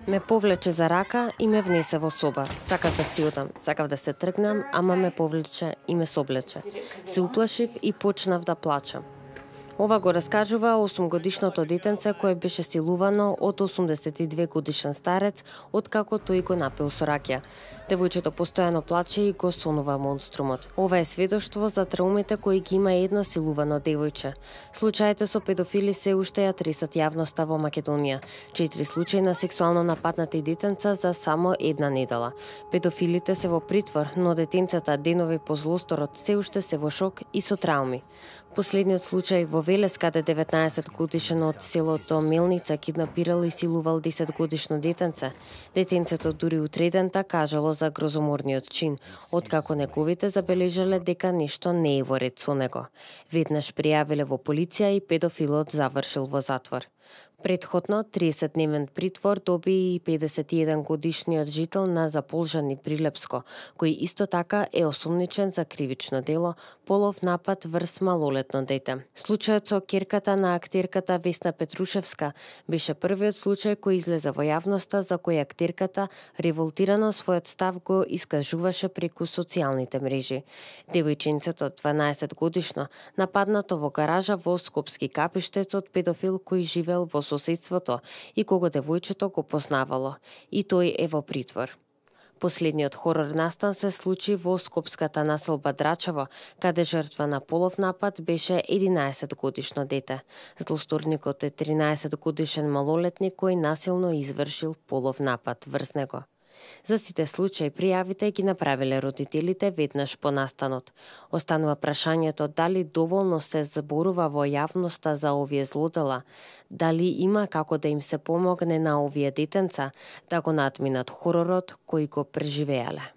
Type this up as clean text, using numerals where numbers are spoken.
Ме повлече за рака и ме внесе во соба. Сакав да си одам, сакав да се тргнам, ама ме повлече и ме соблече. Се уплашив и почнав да плачам. Ова го раскажува 8-годишното детенце кое беше силувано од 82 годишен старец откако тој го напил со ракија. Девојчето постојано плаче и го сонува монструмот. Ова е сведоштво за траумите кои ги има едно силувано девојче. Случаите со педофили се уште ја тресат јавноста во Македонија. 4 случаи на сексуално нападнати детенца за само една недела. Педофилите се во притвор, но детенцата денови по злосторот се уште се во шок и со трауми. Последниот случај во Велес, каде 19 годишен од селото Мелница киднапирал и силувал 10 годишно детенце. Детенцето дури утредента кажало за грозоморниот чин, откако неговите забележале дека нешто не е во ред со него. Веднаш пријавиле во полиција и педофилот завршил во затвор. Претходно 30-дневен притвор доби и 51 годишниот жител на Заполжани при Лепско, кој исто така е осумничен за кривично дело полов напад врз малолетно дете. Случајот со ќерката на актерката Весна Петрушевска беше првиот случај кој излезе во јавноста за кој актерката револтирано својот став го искажуваше преку социјалните мрежи. Девојчинцето 12 годишно нападнато во гаража во Скопски Капиштец од педофил кој живел во соседството и кого девојчето го познавало, и тој е во притвор. Последниот хорор настан се случи во скопската населба Драчево, каде жртва на полов напад беше 11 годишно дете. Злосторникот е 13 годишен малолетник кој насилно извршил полов напад врз него. За сите случаи пријавите ги направиле родителите веднаш по настанот. Останува прашањето дали доволно се зборува во јавноста за овие злодела, дали има како да им се помогне на овие детенца да го надминат хоророт кој го преживеале.